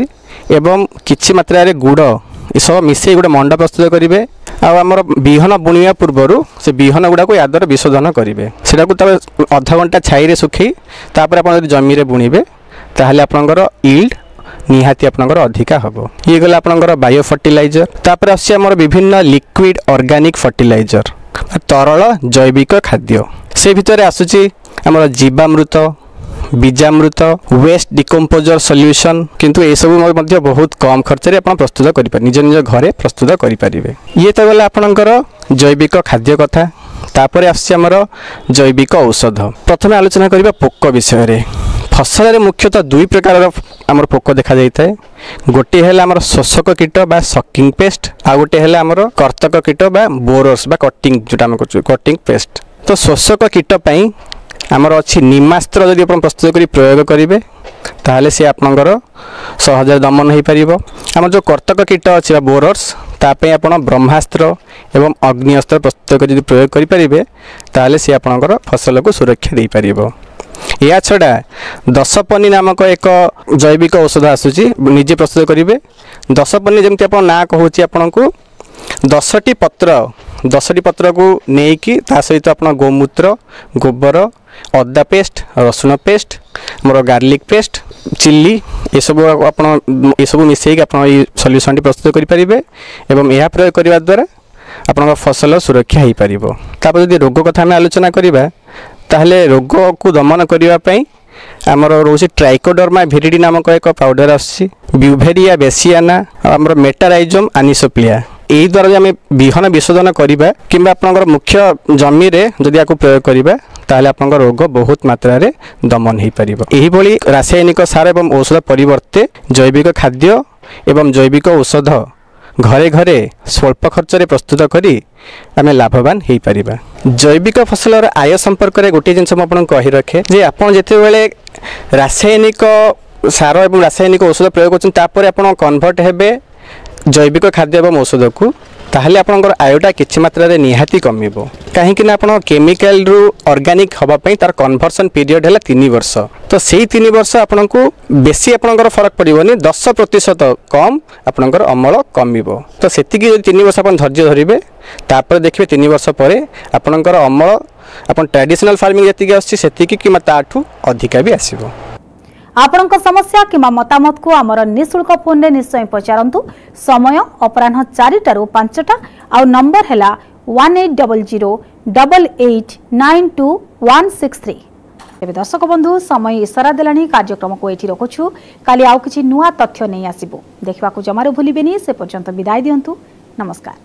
ଏବଂ କିଛି ମାତ୍ରାରେ ଗୁଡ଼ ଏସବୁ ମିଶାଇ ଗୋଟେ ମଣ୍ଡ ପ୍ରସ୍ତୁତ କରିବେ। ଆଉ ଆମର ବିହନ ବୁଣିବା ପୂର୍ବରୁ ସେ ବିହନ ଗୁଡ଼ାକୁ ୟା ଦ୍ୱାରା ବିଶୋଧନ କରିବେ। ସେଟାକୁ ତାପରେ ଅଧଘଣ୍ଟା ଛାଇରେ ଶୁଖେଇ ତାପରେ ଆପଣ ଯଦି ଜମିରେ ବୁଣିବେ, ତାହେଲେ ଆପଣଙ୍କର ଇଲ୍ଡ ନିହାତି ଆପଣଙ୍କର ଅଧିକା ହେବ। ଇଏ ଗଲା ଆପଣଙ୍କର ବାୟୋ ଫର୍ଟିଲାଇଜର। ତାପରେ ଆସୁଛି ଆମର ବିଭିନ୍ନ ଲିକ୍ୱିଡ଼ ଅର୍ଗାନିକ୍ ଫର୍ଟିଲାଇଜର, ତରଳ ଜୈବିକ ଖାଦ୍ୟ। ସେ ଭିତରେ ଆସୁଛି ଆମର ଜୀବାମୃତ, ବୀଜାମୃତ, ୱେଷ୍ଟ ଡିକମ୍ପୋଜର ସଲ୍ୟୁସନ୍। କିନ୍ତୁ ଏସବୁ ମଧ୍ୟ ବହୁତ କମ୍ ଖର୍ଚ୍ଚରେ ଆପଣ ପ୍ରସ୍ତୁତ କରିପାରିବେ, ନିଜ ନିଜ ଘରେ ପ୍ରସ୍ତୁତ କରିପାରିବେ। ଇଏ ତ ଗଲା ଆପଣଙ୍କର ଜୈବିକ ଖାଦ୍ୟ କଥା। ତାପରେ ଆସୁଛି ଆମର ଜୈବିକ ଔଷଧ। ପ୍ରଥମେ ଆଲୋଚନା କରିବା ପୋକ ବିଷୟରେ। ଫସଲରେ ମୁଖ୍ୟତଃ ଦୁଇ ପ୍ରକାରର ଆମର ପୋକ ଦେଖାଯାଇଥାଏ। ଗୋଟିଏ ହେଲା ଆମର ଶୋଷକ କୀଟ ବା ସକିଂ ପେଷ୍ଟ, ଆଉ ଗୋଟିଏ ହେଲା ଆମର କର୍ତ୍ତକ କୀଟ ବା ବୋରର୍ସ ବା କଟିଂ, ଯେଉଁଟା ଆମେ କରୁଛୁ କଟିଂ ପେଷ୍ଟ। ତ ଶୋଷକ କୀଟ ପାଇଁ ଆମର ଅଛି ନିମାସ୍ତ୍ର। ଯଦି ଆପଣ ପ୍ରସ୍ତୁତ କରି ପ୍ରୟୋଗ କରିବେ, ତାହେଲେ ସେ ଆପଣଙ୍କର ସହଜରେ ଦମନ ହୋଇପାରିବ। ଆମର ଯେଉଁ କର୍ତ୍ତକ କୀଟ ଅଛି ବା ବୋରର୍ସ, ତା ପାଇଁ ଆପଣ ବ୍ରହ୍ମାସ୍ତ୍ର ଏବଂ ଅଗ୍ନିଅସ୍ତ୍ର ପ୍ରସ୍ତୁତ କରି ଯଦି ପ୍ରୟୋଗ କରିପାରିବେ, ତାହେଲେ ସେ ଆପଣଙ୍କର ଫସଲକୁ ସୁରକ୍ଷା ଦେଇପାରିବ। ଏହା ଛଡ଼ା ଦଶପନି ନାମକ ଏକ ଜୈବିକ ଔଷଧ ଆସୁଛି, ନିଜେ ପ୍ରସ୍ତୁତ କରିବେ। ଦଶପନି ଯେମିତି ଆପଣ ନାଁ କହୁଛି ଆପଣଙ୍କୁ, ଦଶଟି ପତ୍ର, ଦଶଟି ପତ୍ରକୁ ନେଇକି ତା ସହିତ ଆପଣ ଗୋମୂତ୍ର, ଗୋବର, ଅଦା ପେଷ୍ଟ, ରସୁଣ ପେଷ୍ଟ, ଆମର ଗାର୍ଲିକ୍ ପେଷ୍ଟ, ଚିଲି, ଏସବୁ ଆପଣ ଏସବୁ ମିଶାଇକି ଆପଣ ଏଇ ସଲ୍ୟୁସନ୍ଟି ପ୍ରସ୍ତୁତ କରିପାରିବେ ଏବଂ ଏହା ପ୍ରୟୋଗ କରିବା ଦ୍ୱାରା ଆପଣଙ୍କ ଫସଲ ସୁରକ୍ଷା ହୋଇପାରିବ। ତାପରେ ଯଦି ରୋଗ କଥା ଆମେ ଆଲୋଚନା କରିବା, ତାହେଲେ ରୋଗକୁ ଦମନ କରିବା ପାଇଁ ଆମର ରହୁଛି ଟ୍ରାଇକୋଡର୍ମା ଭିରିଡି ନାମକ ଏକ ପାଉଡ଼ର ଆସୁଛି, ବ୍ୟୁଭେରିଆ ବେସିଆନା, ଆଉ ଆମର ମେଟାରାଇଜମ୍ ଆନିସୋପ୍ଲିଆ। ଏହି ଦ୍ୱାରା ଯଦି ଆମେ ବିହନ ବିଶୋଧନ କରିବା କିମ୍ବା ଆପଣଙ୍କର ମୁଖ୍ୟ ଜମିରେ ଯଦି ୟାକୁ ପ୍ରୟୋଗ କରିବା, ତାହେଲେ ଆପଣଙ୍କ ରୋଗ ବହୁତ ମାତ୍ରାରେ ଦମନ ହୋଇପାରିବ। ଏହିଭଳି ରାସାୟନିକ ସାର ଏବଂ ଔଷଧ ପରିବର୍ତ୍ତେ ଜୈବିକ ଖାଦ୍ୟ ଏବଂ ଜୈବିକ ଔଷଧ ଘରେ ଘରେ ସ୍ୱଳ୍ପ ଖର୍ଚ୍ଚରେ ପ୍ରସ୍ତୁତ କରି ଆମେ ଲାଭବାନ ହୋଇପାରିବା। ଜୈବିକ ଫସଲର ଆୟ ସମ୍ପର୍କରେ ଗୋଟିଏ ଜିନିଷ ମୁଁ ଆପଣଙ୍କୁ କହି ରଖେ ଯେ ଆପଣ ଯେତେବେଳେ ରାସାୟନିକ ସାର ଏବଂ ରାସାୟନିକ ଔଷଧ ପ୍ରୟୋଗ କରୁଛନ୍ତି, ତାପରେ ଆପଣ କନଭର୍ଟ ହେବେ ଜୈବିକ ଖାଦ୍ୟ ଏବଂ ଔଷଧକୁ, ତାହେଲେ ଆପଣଙ୍କର ଆୟଟା କିଛି ମାତ୍ରାରେ ନିହାତି କମିବ। କାହିଁକି ନା ଆପଣ କେମିକାଲରୁ ଅର୍ଗାନିକ୍ ହେବା ପାଇଁ ତାର କନଭର୍ସନ୍ ପିରିୟଡ଼ ହେଲା ତିନି ବର୍ଷ। ତ ସେଇ ତିନି ବର୍ଷ ଆପଣଙ୍କୁ ବେଶୀ ଆପଣଙ୍କର ଫରକ ପଡ଼ିବନି, ଦଶ ପ୍ରତିଶତ କମ୍ ଆପଣଙ୍କର ଅମଳ କମିବ। ତ ସେତିକି ଯଦି ତିନି ବର୍ଷ ଆପଣ ଧୈର୍ଯ୍ୟ ଧରିବେ, ତାପରେ ଦେଖିବେ ତିନି ବର୍ଷ ପରେ ଆପଣଙ୍କର ଅମଳ ଆପଣ ଟ୍ରାଡିସନାଲ୍ ଫାର୍ମିଂ ଯେତିକି ଆସୁଛି ସେତିକି କିମ୍ବା ତାଠୁ ଅଧିକା ବି ଆସିବ। ଆପଣଙ୍କ ସମସ୍ୟା କିମ୍ବା ମତାମତକୁ ଆମର ନିଃଶୁଳ୍କ ଫୋନ୍ରେ ନିଶ୍ଚୟ ପଚାରନ୍ତୁ। ସମୟ ଅପରାହ୍ନ ଚାରିଟାରୁ ପାଞ୍ଚଟା, ଆଉ ନମ୍ବର ହେଲା one eight double zero double eight nine two one six three. ତେବେ ଦର୍ଶକ ବନ୍ଧୁ, ସମୟ ଇସାରା ଦେଲାଣି, କାର୍ଯ୍ୟକ୍ରମକୁ ଏଇଠି ରଖୁଛୁ। କାଲି ଆଉ କିଛି ନୂଆ ତଥ୍ୟ ନେଇ ଆସିବୁ, ଦେଖିବାକୁ ଜମାରୁ ଭୁଲିବେନି। ସେ ପର୍ଯ୍ୟନ୍ତ ବିଦାୟ ଦିଅନ୍ତୁ, ନମସ୍କାର।